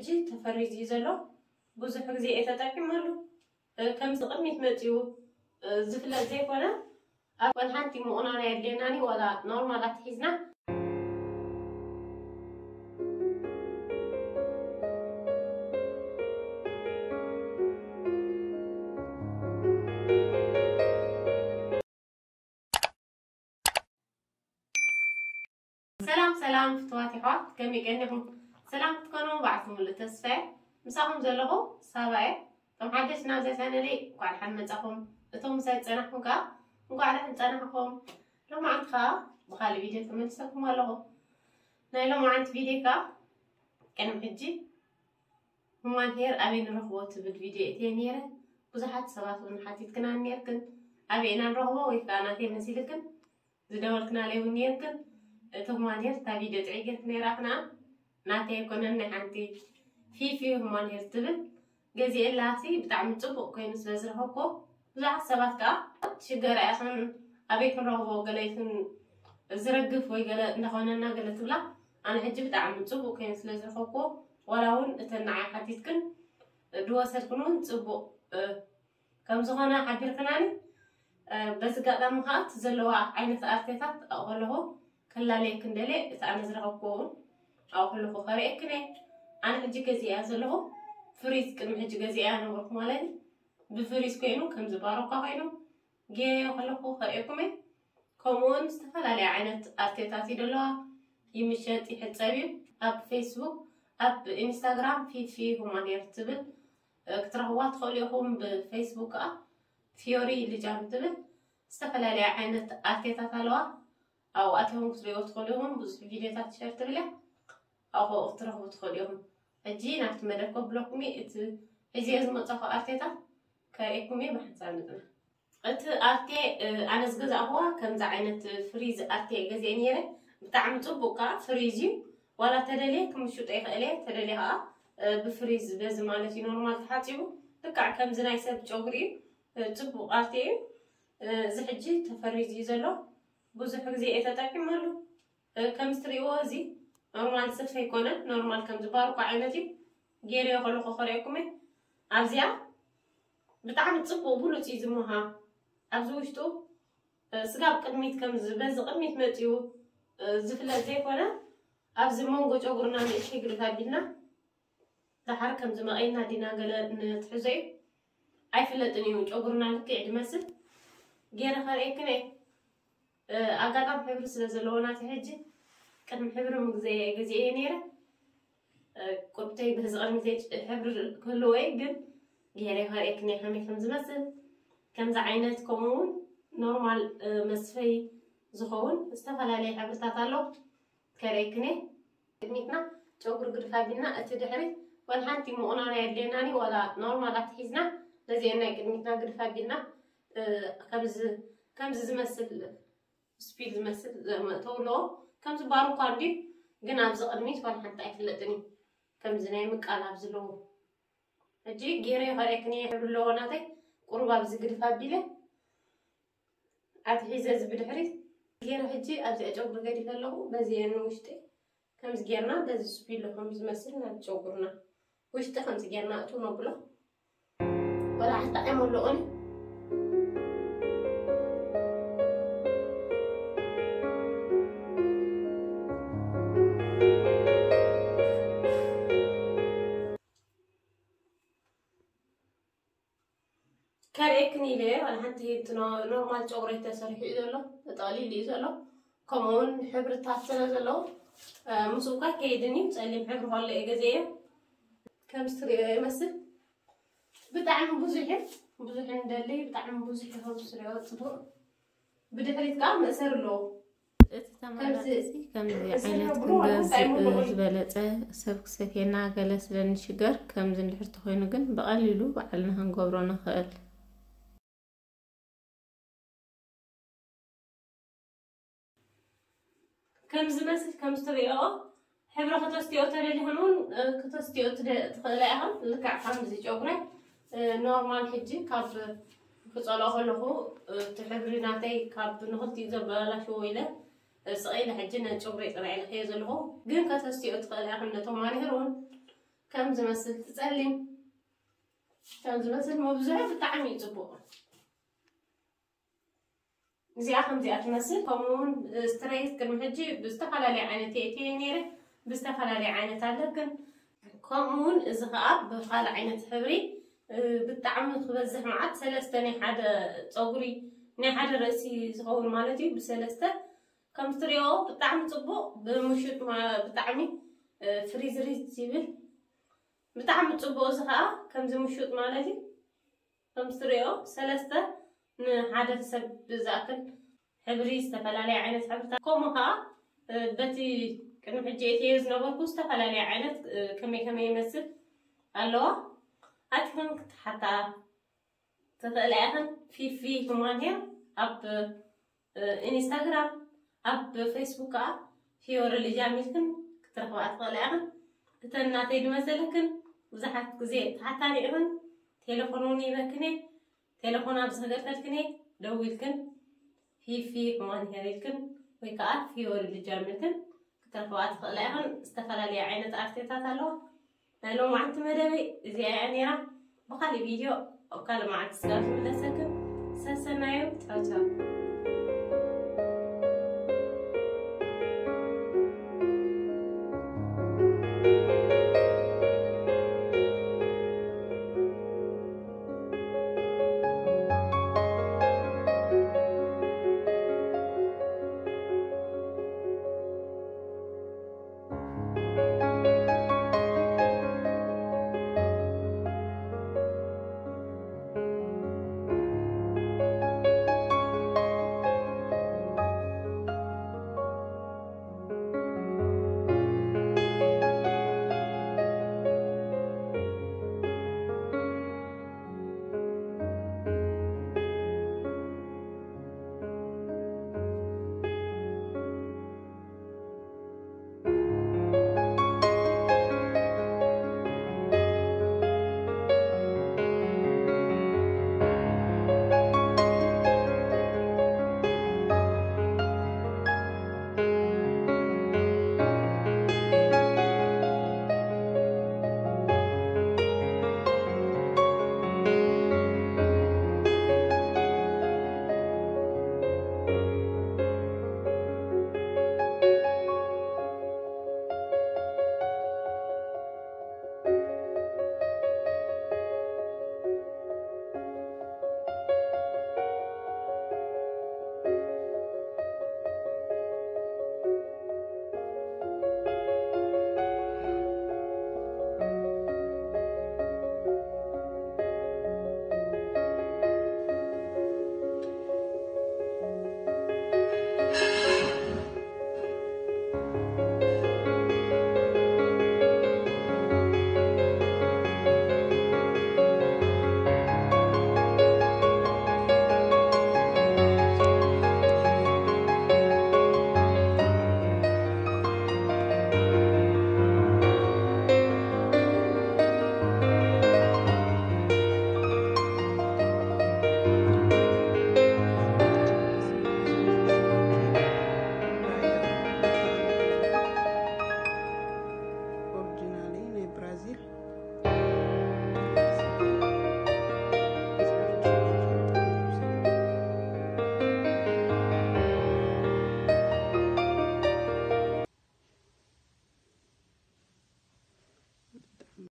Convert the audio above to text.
ሕጂ ተፈሪዙ እዩ ዘሎ። ብዙሕ ግዜ እየ ተጠቂመሉ። እ፣ ከምዚ ቅድሚት መፂኡ፣ እ፣ ዝፍለጥ ዘይኮነ፣ ኣብ ወላ ሓንቲ ምቑናን ኣየድልየናን እዩ፣ ዋላ ኖርማል ኣትሒዝና። ሰላም ሰላም ፍትዋት የሕዋት፣ ከመይ ቀኒኹም? ሰላም ክትኮኑ በዓልቲ ሙሉእ ተስፋ እየ። ምሳኹም ዘለኹ ሳባ እየ። እቶም ሓደሽቲ ናብዛ ቻነለይ እንኳዕ ደሓን መጻኹም። እቶም ምሳይ ዝጸናሕኩም ከኣ እንኳዕ ደሓን ጸናሕኩም። ሎማዓንቲ ከኣ ብኻልእ ቪድዮ ተመልሰኩም ኣለኹ። ናይ ሎማዓንቲ ቪድዮ ከኣ ቅድሚ ሕጂ ሁማን ሄር ኣበይ ንረኽቦ ትብል ቪድዮ እትየ ነይረ። ብዙሓት ሰባት እውን ሓቲትክና ነይርክን፣ ኣበይ ኢና ንረኽቦ ወይ ከኣ ናተይ መሲልክን ዝደወልክናለይ እውን ነይርክን። እቲ ሁማን ሄር እታ ቪድዮ ጥዕይ ጌርክን ነይራኽና። ናተይ ኣይኮነን፣ ናይ ሓንቲ ፊፊ ሁማን ሄር ትብል ገዚኤላሲ ብጣዕሚ ጽቡቕ ኮይኑ ስለ ዝረኸብኩ፣ ብዙሓት ሰባት ከኣ ሽገራ ኢኽን፣ ኣበይ ክንረኽቦ፣ ገለ ይኹን ዝረግፍ ወይ ገለ እንዳኾነና ገለ ትብላ። ኣነ ሕጂ ብጣዕሚ ጽቡቕ ኮይኑ ስለ ዝረኸብኩ፣ ዋላ እውን እተን ንዓይ ሓቲትክን ድወሰድክን እውን ጽቡቕ፣ እ፣ ከም ዝኾነ ሓቢርክናኒ። እ፣ በዚ ኣጋጣሚ ከኣ እቲ ዘለዋ ዓይነት ኣርቴታት ኣብኡ ከለኹ ከላለየክን ደልየ፣ እቲ ኣነ ዝረኸብክዎ እውን ኣብኡ ከለኹ ከርእየክን እየ። ኣነ ሕጂ ገዚኤያ ዘለኹ፣ ፍሪዝ ቅድሚ ሕጂ ገዚኤያ ነበርኩ ማለት እዩ። ብፍሪዝ ኮይኑ ከምዚ ባሮካ ኮይኑ ገይረዮ ከለኹ ከርእየኩም እየ። ከምኡውን ዝተፈላለያ ዓይነት ኣርቴታት እዩ ዘለዋ፣ ይምሸጥ ይሕጸብ እዩ። ኣብ ፌስቡክ፣ ኣብ ኢንስታግራም ፊፊ ሁማን ሄር ትብል፣ እ፣ ክትረኽብዋ ትኽእሉ ኢኹም። ብፌስቡክ ከኣ ፊዮሪ ልጃም ትብል ዝተፈላለያ ዓይነት ኣርቴታት ኣለዋ። ኣብኡ ኣቲኹም ክትሪእዎ ትኽእሉ ኢኹም። ብዙሕ ቪድዮታት ሸር ትብል እያ። ኣብኡ ክትረኽቡ ትኽእሉ ኢኹም። ሕጂ ናብቲ መደብ ከብለኩም እየ። እቲ ሒዝዮ ዝመጻኹ ኣርቴታት ከርእየኩም እየ ብሓንሳብ ንጽናሕ። እቲ ኣርቴ፣ እ፣ ኣነ ዝገዛእኽዋ ከምዚ ዓይነት ፍሪዝ ኣርቴ ገዚኤ ነይረ። ብጣዕሚ ጽቡቕ ከኣ ፍሪዝ እዩ። ዋላ ተደልየ ክምሽጦ ይኽእል እየ። ተደልየ ከኣ፣ እ፣ ብፍሪዝ በዚ ማለት እዩ ኖርማል ተሓጺቡ። ልክዕ ከምዚ ናይ ሰብ ጨጉሪ እዩ። እ፣ ጽቡቕ ኣርቴ እዩ። እ፣ እዚ ሕጂ ተፈሪዝ እዩ ዘሎ። ብዙሕ ግዜ እየ ተጠቂመሉ። እ፣ ከምዚ ትርእይዎ እዚ ኖርማል ስፍ ኣይኮነን። ኖርማል ከምዚ ባርኮ ዓይነት እዩ። ገይረዮ ከለኹ ከርእየኩም እየ። ኣብዚኣ ብጣዕሚ ጽቡቕ ብሉጽ እዩ ዝሞሃ። ኣብዚ ውሽጡ፣ እ፣ ስጋብ ቅድሚት ከምዚ በዚ ቅድሚት መጺኡ፣ እ፣ ዝፍለጥ ዘይኮነ፣ ኣብዚ መንጎ ጨጉርና ንእሽተይ ግድፍ ኣቢልና፣ ደሓር ከምዚ መቐይና ዲና ገለ ንትሕዞ እዩ። ኣይፍለጥን እዩ ጨጉርና ልክዕ ድመስል። ገይረ ከርእየክን እየ። እ፣ ኣጋጣሚ ሕብሪ ስለ ዘለዎ ናተይ ሕጂ ቅድሚ ሕብሪ ምግዘየ ገዚኤ ነይረ። እ፣ ቁርብተይ በዚ ቅድሚ ዘይ-፣ ሕብሪ ክህልዎ እዩ፣ ግን ገይረ ከርእየክን እየ ከመይ ከም ዝመስል። ከምዚ ዓይነት ከምኡ እውን ኖርማል፣ እ፣ መስፈይ ዝኸውን ዝተፈላለየ ሕብርታት ኣሎ። ከርእየክን እየ። ቅድሚትና ጨጉሪ ግድፍ ኣቢልና፣ እቲ ድሕሪ ዋላ ሓንቲ ምቑናን ኣየድልየናን እዩ፣ ዋላ ኖርማል ኣትሒዝና፣ ነዚአን ናይ ቅድሚትና ግድፍ ኣቢልና፣ እ፣ ከምዚ፣ ከምዚ ዝመስል ስፒል ዝመስል ዘመእተው ኣለዎ። ከምዚ ባር እኳ እንድዩ፣ ግን ኣብዚ ቅድሚት ዋላ ሓንቲ ኣይፍለጥን እዩ። ከምዚ ናይ ምቃላብ ዘለዎ። ሕጂ ገይረ ከርእየክን እየ፣ ሕብሪ ኣለዎ ናተይ። ቁሩብ ኣብዚ ግድፍ ኣቢለ፣ ኣትሒዘ እዚ ብድሕሪት ገይረ፣ ሕጂ ኣብዚኣ ጨጉሪ ገዲፈ ኣለኹ። በዚ እየ ንውሽጢ ከምዚ ጌርና፣ በዚ ስፒሎ ከም ዝመስል ናብ ጨጉርና ውሽጢ ከምዚ ጌርና እቱ ነብሎ። ወላ ሓንቲ ዓም ኣለኦን። ከርእየክን ኢለ እየ፣ ዋላ ሓንቲ እቲ ኖ-፣ ኖርማል ጨጉረይ ተሰሪሑ እዩ ዘሎ፣ ተጠቕሊሉ እዩ ዘሎ። ከምኡ እውን ሕብርታት ስለ ዘለዎ፣ እ፣ ምስኡ እኳ ከይድን እዩ። ጸሊም ሕብሪ ከሎ እየ ገዚኤዮ። ከምዚ ትርእዮ ይመስል። ብጣዕሚ ብዙሕ እዩ። ብዙሕ እንደሊ፣ ብጣዕሚ ብዙሕ እዩ። ከምዚ ትርእዮ ጽቡቕ። ብድሕሪት ከኣ መእሰሪ ኣለዎ። እቲ ተመራጺ ከምዚ፣ እዚ ከምዚ እዚ ዓይነት ንብሎ ክንገዝእ፣ እንታይ ምብሎ? ዝበለጸ ሰብ ክሰትየና ገለ ስለ እንሽገር፣ ከምዚ እንድሕር ተኾይኑ ግን ብቐሊሉ ባዕልና ክንገብሮ ንኽእል። ከም ዝመስል ከም እትርእይኦ፣ ሕብሪ ከተስትዮ ተደሊኽን እውን፣ እ፣ ከተስትዮ ትደ-፣ ትኽእላ ኢኽን። ልክዕ ከምዚ ጨጉረይ፣ እ፣ ኖርማል ሕጂ ካብ ክጸልኦ ከለኹ፣ እ፣ እቲ ሕብሪ ናተይ ካብ ንኽልቲኡ ዘበላሽዎ ኢለ፣ እ፣ ስቕ ኢለ ሕጂ ነጨጉረይ ጥራይ ኢለ ከየ ዘለኹ። ግን ከተስትዮ ትኽእላ ኢኽን ነቶም ማኒክር እውን ከም ዝመስል ትጸሊም ከም ዝመስል መብዝሑ ብጣዕሚ እዩ ጽቡቕ። እዚኣ ከምዚኣ ትመስል። ከምኡ እውን ስትሬት ቅድሚ ሕጂ ብዝተፈላለየ ዓይነት የእትየ ነይረ፣ ብዝተፈላለየ ዓይነት ኣለክን። ከምኡ እውን እዚ ከዓ ብካልእ ዓይነት ሕብሪ ብጣዕሚ ክበዝሕ መዓት ሰለስተ ናይ ሓደ ፀጉሪ ናይ ሓደ ርእሲ ዝኸውን ማለት እዩ። ብሰለስተ ከም ትሪኦ ብጣዕሚ ፅቡቕ ብምሹጥ ብጣዕሚ ፍሪዝሪዝ ይብል። ብጣዕሚ ፅቡቕ እዚ ከዓ ከምዚ ምሹጥ ማለት እዩ። ከም ትሪኦ ሰለስተ ንሓደ ሰብ ብዝኣክል ሕብሪ ዝተፈላለየ ዓይነት ሕብርታት ከምኡ ከዓ በቲ ቅድሚ ሕጂ እትየ ዝነበርኩ ዝተፈላለየ ዓይነት ከመይ ከመይ ይመስል ኣለዋ። ኣቲኽን ክትሓታ ትኽእላ ኢኽን። ፊፊ ሁማን ሄር ኣብ ኢንስታግራም ኣብ ፌስቡክ ከዓ ፊዮሪ ልጃም ኢልክን ክትረኽባ ትኽእላ ኢኽን። እተን ናተይ ዝመሰለክን ብዙሓት ግዜ ተሓታኒ ኢኽን። ቴሌፎን እውን ይበክን እየ። ቴሌፎን ኣብ ዝገርፈልክን እየ። ደዊልክን ፊፊ ሁማን ሄር ኢልክን ወይ ከዓ ፊዮሪ ልጃም ኢልክን ክትረኽባ ትኽእላ ኢኽን። ዝተፈላለየ ዓይነት ኣርቴታት ኣለዋ። ናይ ሎማዓንቲ መደበይ እዚኣ እያ ነይራ። ብካሊእ ቪድዮ ኣብ ካልእ መዓልቲ ስጋብ ዝምለሰክን ሰሰናዩ። ቻው ቻው።